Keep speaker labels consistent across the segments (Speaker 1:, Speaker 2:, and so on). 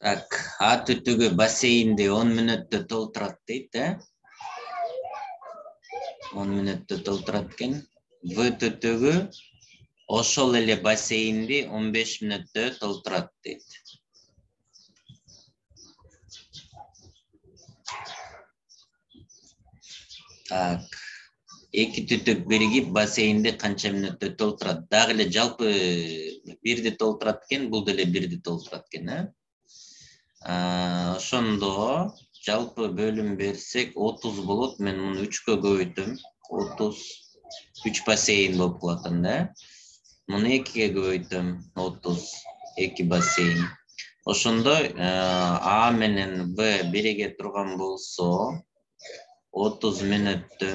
Speaker 1: Так, А түтүгү бассейнди 10 мүнөттө толтурат дейт, 10 мүнөттө толтурат экен. В түтүгү ошол эле бассейнди 15 мүнөттө толтурат дейт. Так, эки түтүк биригип бассейнди канча мүнөттө толтурат? Дагы эле жалпы бирди толтурат экен, бул деле бирди толтурат экен, Ошондо жалпы бөлүм берсек 30 болот. Мен муну 3кө көбөйтөм. 33 бассейн болуп калат анда. Муну 2ге көбөйтөм. 32 бассейн. Ошондо А менен Б бириге турган болсо 30 мүнөттө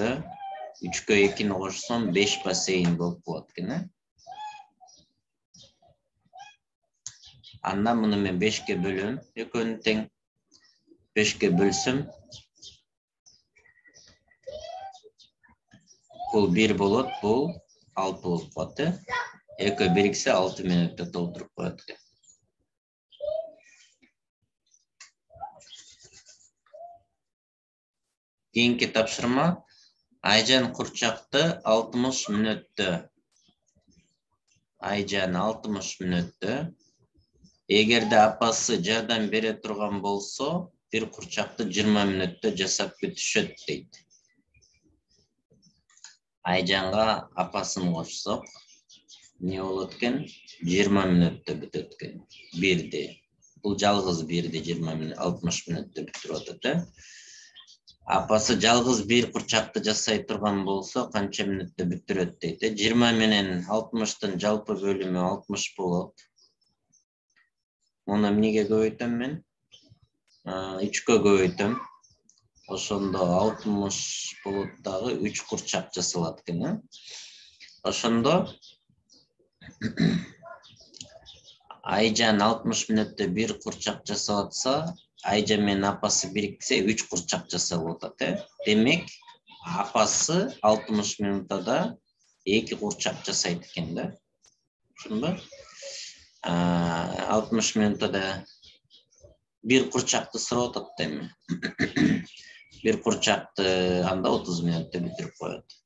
Speaker 1: 3кө 2-ни кошсом 5 бассейн болуп калат экен, Андан муну мен 5ке бөлөм. Экөөнү тең. 5ке бөлсөм бул 1 болот, бул 6 болуп калат, Экөө бириксе 6 мүнөттө толтуруп коет экен. Кийинки тапшырма. Айжан курчакты 60 мүнөттө. Айжан 60 мүнөттө. Эгерде апасы жардам бере турган болсо, бир курчакты 20 мүнөттө жасап бүтүшөт дейт. Айжанга апасын кошсок, эмне болот экен? 20 мүнөттө бүтөт экен. Бирди. Бул жалгыз бирди 60 мүнөттө бүтүрүп атат, Апасы жалгыз бир курчакты жасай турган болсо, канча мүнөттө бүтүрөт дейт. 20 менен 60тын жалпы бөлүмү 60 болот. Муну эмнеге көбөйтөм мен? 3кө көбөйтөм. Ошондо 60 болот дагы 3 курчак жасалат экен, Ошондо Айжан 60 мүнөттө бир курчак жасап атса, Айжан менен апасы бириксе 3 курчак жасап атат, Демек, апасы 60 мүнөттө 2 курчак жасайт экен, Ошондо 60 мүнөттө бир курчакты сурап атат эми. Бир курчакты анда 30 мүнөттө бүтүрүп коет.